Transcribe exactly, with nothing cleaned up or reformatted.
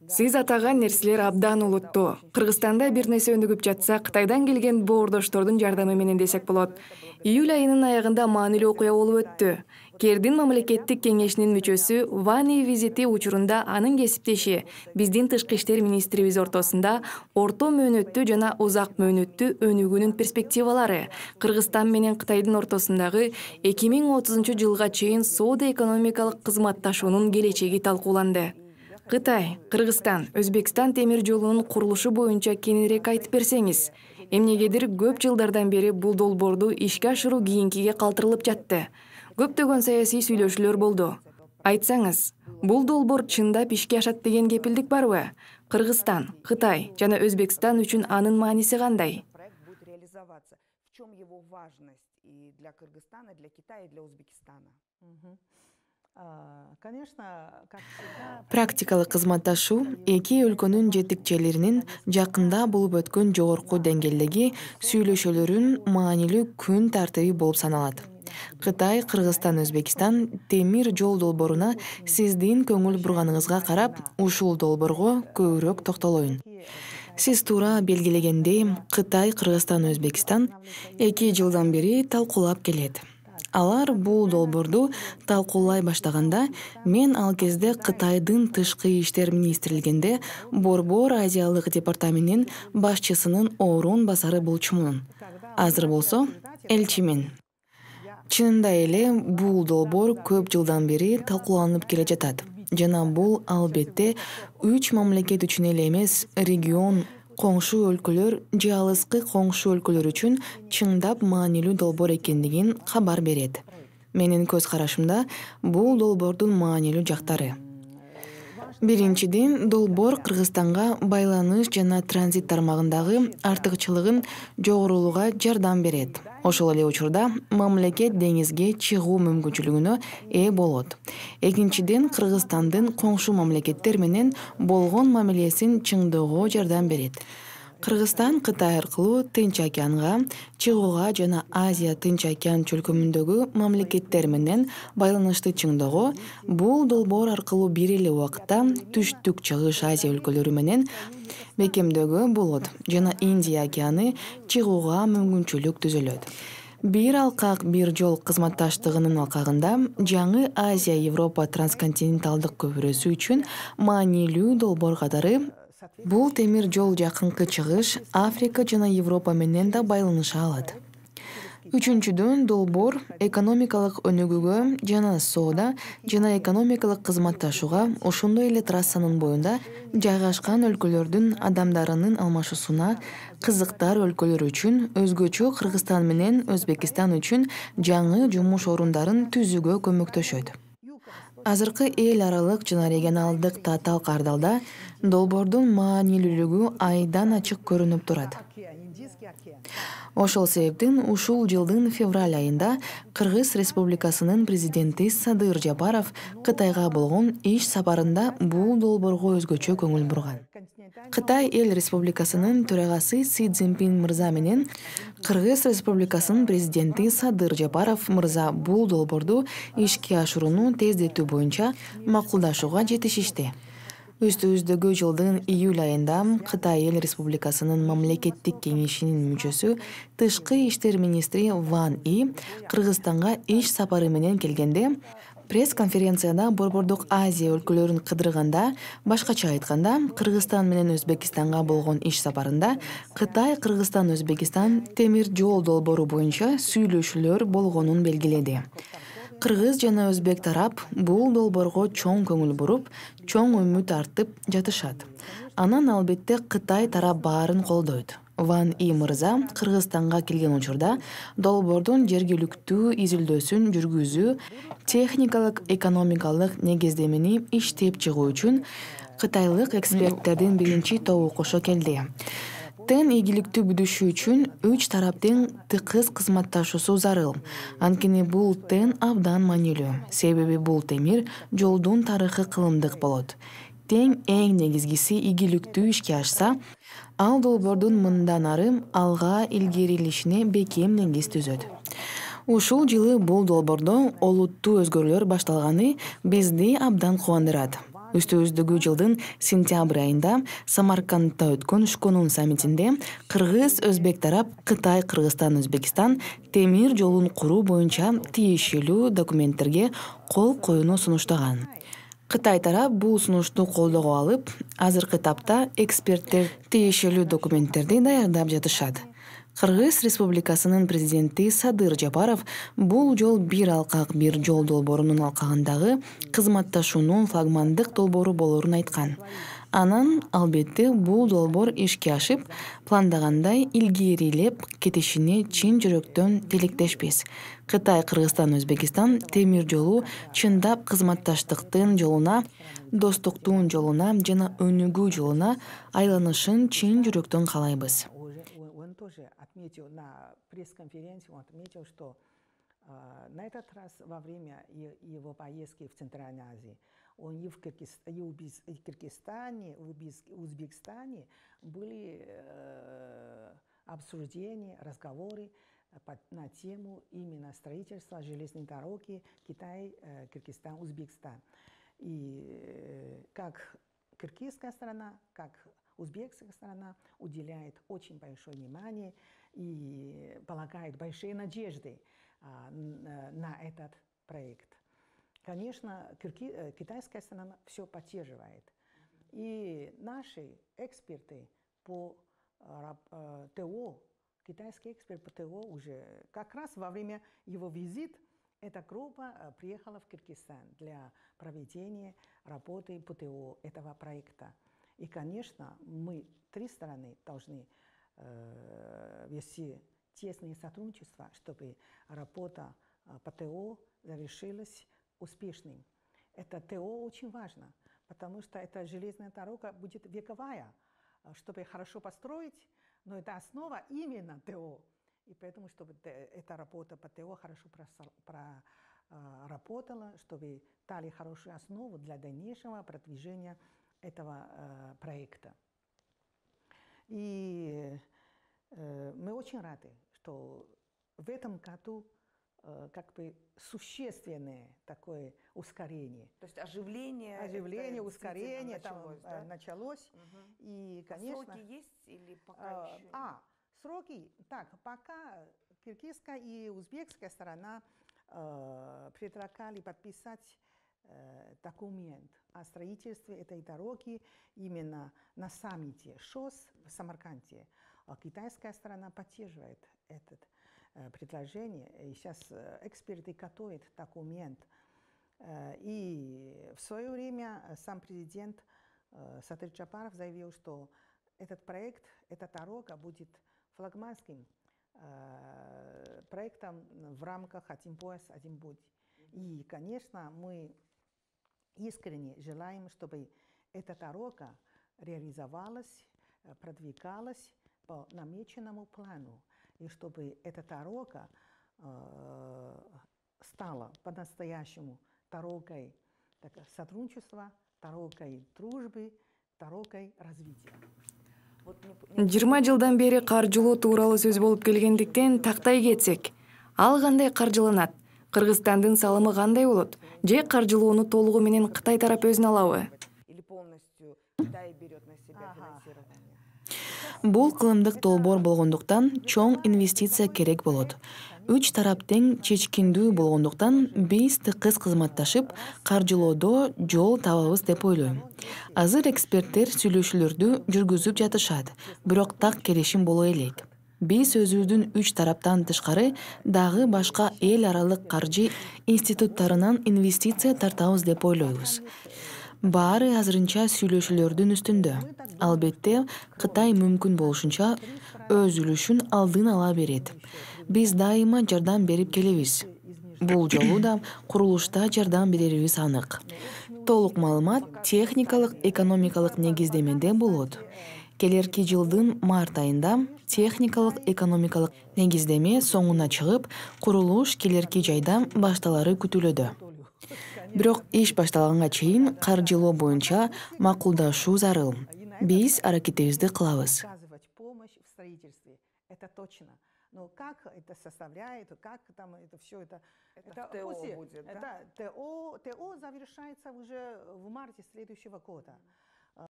Сиз атаган нерселер абдан олуттуу. Кыргызстанда бир нерсе өнүгүп жатса, Кытайдан келген боордоштордун жардамы менен десек болот. Июль айынын аягында маанилүү окуя болуп өттү. Кердин мамлекеттик кеңешинин мүчөсү Вани визити учурунда анын кесиптеши биздин тышкы иштер министрибиз ортосунда орто мөөнөттүү жана узак мөөнөттүү өнүгүүнүн перспективалары, Кыргызстан менен Кытайдын ортосундагы эки миң отузунчу жылга чейин соода-экономикалык кызматташуунун келечеги талкууланды. Кытай, Кыргызстан, Өзбекстан темир жолунун курулушу боюнча кененирээк айтып берсеңиз. Эмнегедир көп жылдардан бери бул долбоорду ишке ашыруу кийинкиге калтырылып жатты. Көптөгөн саясий сүйлөшүүлөр болду. Айтсаңыз, бул долбоор чындап ишке ашат деген кепилдик барбы? Кыргызстан, Кытай жана Өзбекстан үчүн анын мааниси кандай? Практикалык кызматташуу эки өлкөнүн жетекчилеринин жакында болуп өткөн жогорку деңгээлдеги сүйлөшүүлөрүн маанилүү күн тартиби болуп саналат. Кытай, Кыргызстан, Өзбекстан темир жол долбооруна сиздин көңүл бурганыңызга карап, ушул долбоорго көбүрөөк токтолоюн. Сиз туура белгилегендей, Кытай, Кыргызстан, Өзбекстан эки жылдан бери талкуулап келет. Алар бул долбоорду талкуулай баштаганда, мен ал кезде Кытайдын тышкы иштер министрлигинде Борбор Азиялык департаментинин башчысынын орун басары болчумун. Азыр болсо элчимин. Чынында эле бул долбоор көп жылдан бери талкууланып келе жатат. Жана бул албетте үч мамлекет үчүн эле эмес, регион, коңшу өлкөлөр же алыскы коңшу өлкөлөр үчүн чындап маанилүү долбоор экендигин кабар берет. Менин көз карашымда бул долбоордун маанилүү жактары. Биринчиден, долбоор Кыргызстанга байланыш жана транзит тармагындагы артыкчылыгын жогорулууга жардам берет. Ошол эле учурда мамлекет деңизге чыгуу мүмкүнчүлүгүнө ээ болот. Экинчиден, Кыргызстандын коңшу мамлекеттер менен болгон мамилесин чыңдоого жардам берет. Кыргызстан Кытай аркылуу Тынч океанга чыгууга жана Азия Тынч океан чөлкөмүндөгү мамлекеттер менен байланышты чыңдоого бул долбоор аркылуу бир эле убакытта Түштүк Чыгыш Азия өлкөлөрү менен бекемдөөгө болот жана Индия океаны чыгууга мүмкүнчүлүк түзөлөт. Бир алкак бир жол кызматташтыгынын алкагында жаңы Азия-Европа трансконтиненталдык көпүрөсү үчүн маанилүү долбоор катары бул темир жол жакынкы чыгыш, Африка жана Европа менен да байланыша алат. Үчүнчүдөн, долбоор экономикалык өнүгүүгө жана соода жана экономикалык кызматташууга, ошондой эле трассанын боюнда жайгашкан өлкөлөрдүн адамдарынын алмашуусуна, кызыктар өлкөлөр үчүн, өзгөчө Кыргызстан менен Өзбекстан үчүн жаңы жумуш орундарын түзүүгө көмөктөшөт. Азыркы эл аралык жана регионалдык татаал кардалда долбоордун маанилүүлүгү айдан ачык көрүнүп турат. Ошол себептен ушул жылдын февраль айында Кыргыз Республикасынын президенти Садыр Жапаров Кытайга болгон иш сапарында бул долбоорго өзгөчө көңүл бурган. Кытай Эл Республикасынын төрагасы Си Цзиньпин мырза менен Кыргыз Республикасынын президенти Садыр Жапаров мырза бул долбоорду ишке ашырууну тездетүү боюнча макулдашууга жетишишти. Үстүбүздөгү жылдын июль айында Кытай Эл Республикасынын мамлекеттик кеңешинин мүчөсү тышкы иштер министри Ван И Кыргызстанга иш сапары менен келгенде, пресс-конференцияда Борбордук Азия өлкөлөрүн кыдырганда, башкача айтканда, Кыргызстан менен Өзбекстанга болгон иш сапарында Кытай, Кыргызстан, Өзбекстан темир жол долбоору боюнча сүйлөшүүлөр болгонун белгиледи. Кыргыз жана өзбек тарап бул долбоорго чоң көңүл буруп, чоң үмүт артып жатышат. Анан албетте Кытай тарап баарын колдойт. Ван И мырза Кыргызстанга келген учурда долбоордун жергиликтүү изилдөөсүн жүргүзүү, техникалык экономикалык негиздемени иштеп чыгуу үчүн кытайлык эксперттердин биринчи тобу кошо келди. Тең ийгиликтүү бүтүшү үчүн үч тараптын тыкыз кызматташуусу зарыл. Анткени бул тең абдан маанилүү. Себеби бул темир жолдун тарыхы кылымдык болот. Тең эң негизгиси ийгиликтүү ишке ашса, ал долбоордун мындан ары алга илгерилишине бекем негиз түзөт. Ушул жылы бул долбоордо олуттуу өзгөрүүлөр башталганы бизди абдан кубандырат. Үстүбүздөгү жылдын сентябрь айында Самаркандда өткөн Шконун саммитинде Кыргыз, Өзбек тарап Кытай, Кыргызстан, Өзбекстан темир жолун куруу боюнча тиешелүү документтерге кол коюуну сунуштаган. Кытай тарап бул сунушту колдоого алып, азыркы тапта эксперттер тиешелүү документтерди даярдап жатышат. Кыргыз Республикасынын президенти Садыр Жапаров бул жол бир алкак бир жол долбоорунун алкагындагы кызматташуунун флагмандык долбоору болоорун айткан. Анан, албетте, бул долбоор ишке ашып, пландагандай илгерилеп кетишине чын жүрөктөн тилектешпиз. Кытай, Кыргызстан, Өзбекстан темир жолу чындап кызматташтыктын жолуна, достуктун жолуна жана өнүгүү жолуна айланышын чын жүрөктөн каалайбыз. Он тоже отметил на пресс-конференции, он отметил, что на этот раз во время его поездки в Центральной Азии он и в Кыргызстане, в Узбекистане были обсуждения, разговоры на тему именно строительства железной дороги Китай, Кыргызстан, Узбекистан. И как кыргызская сторона, как узбекская сторона уделяет очень большое внимание и полагает большие надежды на этот проект. Конечно, китайская сторона все поддерживает. И наши эксперты по ТО, китайский эксперт по ТО уже как раз во время его визита эта группа приехала в Кыргызстан для проведения работы по ТО этого проекта. И, конечно, мы, три стороны, должны э, вести тесное сотрудничество, чтобы работа по ТО завершилась успешным. Это ТО очень важно, потому что эта железная дорога будет вековая, чтобы хорошо построить, но это основа именно ТО. И поэтому, чтобы эта работа по ТО хорошо проработала, чтобы дали хорошую основу для дальнейшего продвижения этого э, проекта. И э, мы очень рады, что в этом году э, как бы существенное такое ускорение. То есть оживление, оживление, ускорение началось, там да? началось. Угу. И, конечно, сроки есть или пока э, еще? А, сроки. Так, пока киргизская и узбекская сторона э, предлагали подписать документ о строительстве этой дороги именно на саммите ШОС в Самарканде. Китайская сторона поддерживает это э, предложение. И сейчас э, эксперты готовят документ. Э, и в свое время сам президент э, Садыр Жапаров заявил, что этот проект, эта дорога будет флагманским э, проектом в рамках «Один пояс, один путь». И, конечно, мы искренне желаем, чтобы эта дорога реализовалась, продвигалась по намеченному плану, и чтобы эта дорога э, стала по-настоящему дорогой так, сотрудничества, дорогой дружбы, дорогой развития. жыйырма жылдан бери каржылоо тууралуу сөз болуп келгендиктен тактай кетсек, ал кандай каржыланат? Кыргызстандын салымы кандай болот? Же каржылоону толугу менен Кытай тарап өзүнө алабы? Или полностью Китай берет на себя финансирование? Бул кылымдык долбоор болгондуктан чоң инвестиция керек болот. Үч тарап тең чечкиндүү болгондуктан биз тыкыз кызматташып, каржылоодо жол табабыз деп ойлойм. Азыр эксперттер сүйлөшүүлөрдү жүргүзүп жатышат, бирок так келишим боло элек. Биз өзүбүздүн үч тараптан тышкары дагы башка эл аралык каржы институттарынан инвестиция тартабыз деп ойлойбуз. Баары азырынча сүйлөшүүлөрдүн үстүндө. Албетте, Кытай мүмкүн болушунча өз үлүшүн алдын ала берет. Биз дайыма жардам берип келебиз. Бул жолу да курулушта жардам берерибиз анык. Толук маалымат техникалык, экономикалык негиздемеде болот. Келерки жылдын март айында техникалык, экономикалык негиздеме соңуна чыгып, курулуш келерки жайда башталары күтүлөдө. Бирок иш башталганга чейин каржылоо боюнча макулдашуу зарыл. Биз аракетибизди кылабыз. Это точно. Но как это составляет, как там это все это... Это в ТО после- будет, да? это ТО, ТО завершается уже в марте следующего года.